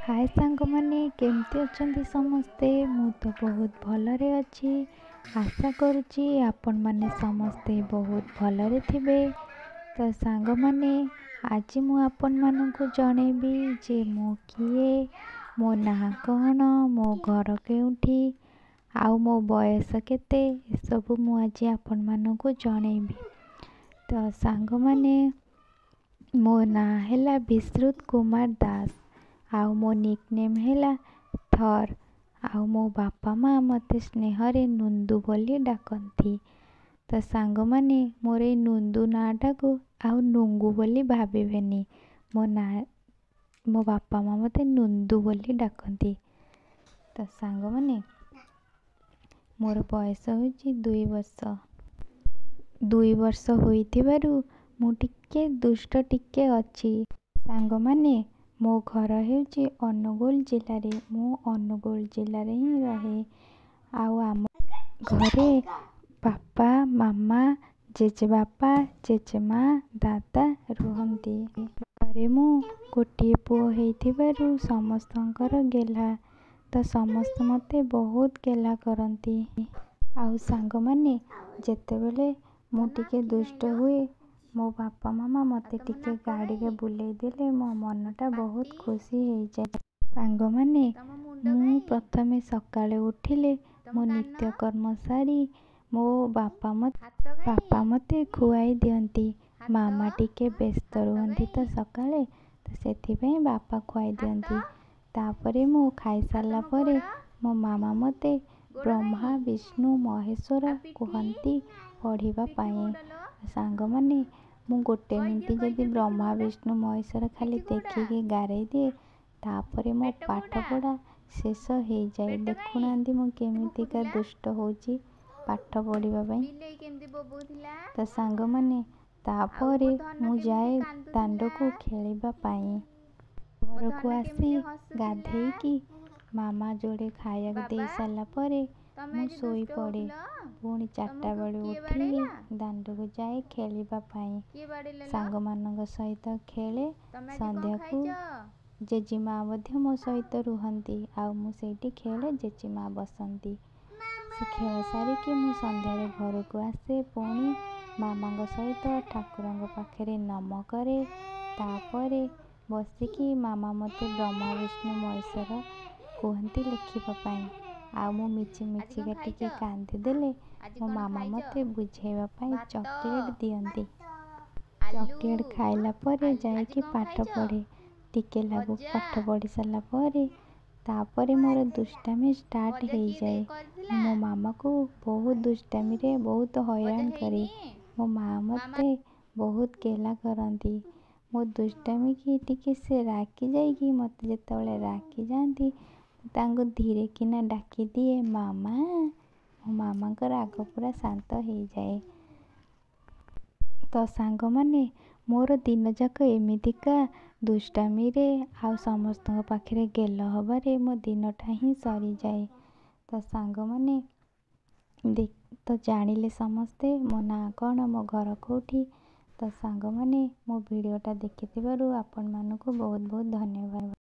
ହାଏ ସାଙ୍ଗମାନେ, କେମିତି ଅଛନ୍ତି ସମସ୍ତେ? ମୁଁ ତ ବହୁତ ଭଲରେ ଅଛି। ଆଶା କରୁଛି ଆପଣମାନେ ସମସ୍ତେ ବହୁତ ଭଲରେ ଥିବେ। ତ ସାଙ୍ଗମାନେ, ଆଜି ମୁଁ ଆପଣମାନଙ୍କୁ ଜଣେଇବି ଯେ ମୁଁ କିଏ, ମୋ ନାଁ କ'ଣ, ମୋ ଘର କେଉଁଠି ଆଉ ମୋ ବୟସ କେତେ, ଏସବୁ ମୁଁ ଆଜି ଆପଣମାନଙ୍କୁ ଜଣେଇବି। ତ ସାଙ୍ଗମାନେ, ମୋ ନାଁ ହେଲା ବିଶ୍ରୁତ କୁମାର ଦାସ ଆଉ ମୋ ନିକ୍ ନେମ୍ ହେଲା ଥର୍, ଆଉ ମୋ ବାପା ମା' ମୋତେ ସ୍ନେହରେ ନୁନ୍ଦୁ ବୋଲି ଡାକନ୍ତି। ତ ସାଙ୍ଗମାନେ, ମୋର ଏଇ ନୁନ୍ଦୁ ନାଁଟାକୁ ଆଉ ନୁଙ୍ଗୁ ବୋଲି ଭାବିବେନି। ମୋ ନାଁ, ମୋ ବାପା ମା' ମୋତେ ନୁନ୍ଦୁ ବୋଲି ଡାକନ୍ତି। ତ ସାଙ୍ଗମାନେ, ମୋର ବୟସ ହେଉଛି 2 ବର୍ଷ। 2 ବର୍ଷ ହୋଇଥିବାରୁ ମୁଁ ଟିକେ ଦୁଷ୍ଟ ଟିକେ ଅଛି। ସାଙ୍ଗମାନେ, ମୋ ଘର ହେଉଛି ଅନୁଗୁଳ ଜିଲ୍ଲାରେ। ମୁଁ ଅନୁଗୁଳ ଜିଲ୍ଲାରେ ହିଁ ରହେ ଆଉ ଆମ ଘରେ ବାପା, ମାମା, ଜେଜେବାପା, ଜେଜେମା, ଦାଦା ରୁହନ୍ତି। ଘରେ ମୁଁ ଗୋଟିଏ ପୁଅ ହେଇଥିବାରୁ ସମସ୍ତଙ୍କର ଗେହ୍ଲା। ତ ସମସ୍ତେ ମୋତେ ବହୁତ ଗେହ୍ଲା କରନ୍ତି। ଆଉ ସାଙ୍ଗମାନେ, ଯେତେବେଳେ ମୁଁ ଟିକେ ଦୁଷ୍ଟ ହୁଏ, ମୋ ବାପା ମାମା ମୋତେ ଟିକେ ଗାଡ଼ିରେ ବୁଲେଇ ଦେଲେ ମୋ ମନଟା ବହୁତ ଖୁସି ହେଇଯାଏ। ସାଙ୍ଗମାନେ, ମୁଁ ପ୍ରଥମେ ସକାଳେ ଉଠିଲେ ମୋ ନିତ୍ୟକର୍ମ ସାରି ମୋ ବାପା ମୋତେ ଖୁଆଇ ଦିଅନ୍ତି। ମାମା ଟିକେ ବ୍ୟସ୍ତ ରୁହନ୍ତି ତ ସକାଳେ, ତ ସେଥିପାଇଁ ବାପା ଖୁଆଇ ଦିଅନ୍ତି। ତାପରେ ମୁଁ ଖାଇସାରିଲା ପରେ ମୋ ମାମା ମୋତେ ବ୍ରହ୍ମା ବିଷ୍ଣୁ ମହେଶ୍ୱର କୁହନ୍ତି ପଢ଼ିବା ପାଇଁ। ସାଙ୍ଗମାନେ, ମୁଁ ଗୋଟେ ମିନିଟ୍ ଯଦି ବ୍ରହ୍ମା ବିଷ୍ଣୁ ମହେଶ୍ୱର ଖାଲି ଦେଖିକି ଗାରେଇ ଦିଏ, ତାପରେ ମୋ ପାଠପଢ଼ା ଶେଷ ହେଇଯାଏ। ଦେଖୁନାହାନ୍ତି ମୁଁ କେମିତିକା ଦୁଷ୍ଟ ହେଉଛି ପାଠ ପଢ଼ିବା ପାଇଁ। ତ ସାଙ୍ଗମାନେ, ତାପରେ ମୁଁ ଯାଏ ଦାଣ୍ଡକୁ ଖେଳିବା ପାଇଁ। ଘରକୁ ଆସି ଗାଧେଇକି ମାମା ଯୋଡ଼େ ଖାଇବାକୁ ଦେଇ ସାରିଲା ପରେ ମୁଁ ଶୋଇପଡ଼େ। ପୁଣି 4ଟା ବେଳୁ ଉଠିକି ଦାଣ୍ଡକୁ ଯାଏ ଖେଳିବା ପାଇଁ, ସାଙ୍ଗମାନଙ୍କ ସହିତ ଖେଳେ। ସନ୍ଧ୍ୟାକୁ ଜେଜେମା ମଧ୍ୟ ମୋ ସହିତ ରୁହନ୍ତି ଆଉ ମୁଁ ସେଇଠି ଖେଳେ, ଜେଜେମା ବସନ୍ତି। ସେ ଖେଳ ସାରିକି ମୁଁ ସନ୍ଧ୍ୟାରେ ଘରକୁ ଆସେ, ପୁଣି ମାମାଙ୍କ ସହିତ ଠାକୁରଙ୍କ ପାଖରେ ନମ କରେ। ତାପରେ ବସିକି ମାମା ମୋତେ ବ୍ରହ୍ମା ବିଷ୍ଣୁ ମହେଶ୍ୱର କୁହନ୍ତି ଲେଖିବା ପାଇଁ, ଆଉ ମୁଁ ମିଛି ମିଛିକା ଟିକେ କାନ୍ଦିଦେଲେ ମୋ ମାମା ମୋତେ ବୁଝେଇବା ପାଇଁ ଚକୋଲେଟ୍ ଦିଅନ୍ତି। ଚକୋଲେଟ୍ ଖାଇଲା ପରେ ଯାଇକି ପାଠ ପଢ଼େ। ଟିକେ ଲାଗୁ ପାଠ ପଢ଼ି ସାରିଲା ପରେ ତାପରେ ମୋର ଦୁଷ୍ଟାମି ଷ୍ଟାର୍ଟ ହେଇଯାଏ। ମୁଁ ମୋ ମାମାକୁ ବହୁତ ଦୁଷ୍ଟାମିରେ ବହୁତ ହଇରାଣ କରେ। ମୋ ମା' ମୋତେ ବହୁତ ଗେହ୍ଲା କରନ୍ତି। ମୋ ଦୁଷ୍ଟାମିକି ଟିକେ ସେ ରାଗି ଯାଇକି ମୋତେ ଯେତେବେଳେ ରାଗି ଯାଆନ୍ତି, ମୁଁ ତାଙ୍କୁ ଧୀରେ କିନା ଡାକିଦିଏ ମାମା। ମୋ ମାମାଙ୍କ ରାଗ ପୁରା ଶାନ୍ତ ହେଇଯାଏ। ତ ସାଙ୍ଗମାନେ, ମୋର ଦିନଯାକ ଏମିତିକା ଦୁଷ୍ଟାମିରେ ଆଉ ସମସ୍ତଙ୍କ ପାଖରେ ଗେଲ ହେବାରେ ମୋ ଦିନଟା ହିଁ ସରିଯାଏ। ତ ସାଙ୍ଗମାନେ ତ ଜାଣିଲେ ସମସ୍ତେ ମୋ ନାଁ କ'ଣ, ମୋ ଘର କେଉଁଠି। ତ ସାଙ୍ଗମାନେ, ମୋ ଭିଡ଼ିଓଟା ଦେଖିଥିବାରୁ ଆପଣମାନଙ୍କୁ ବହୁତ ବହୁତ ଧନ୍ୟବାଦ।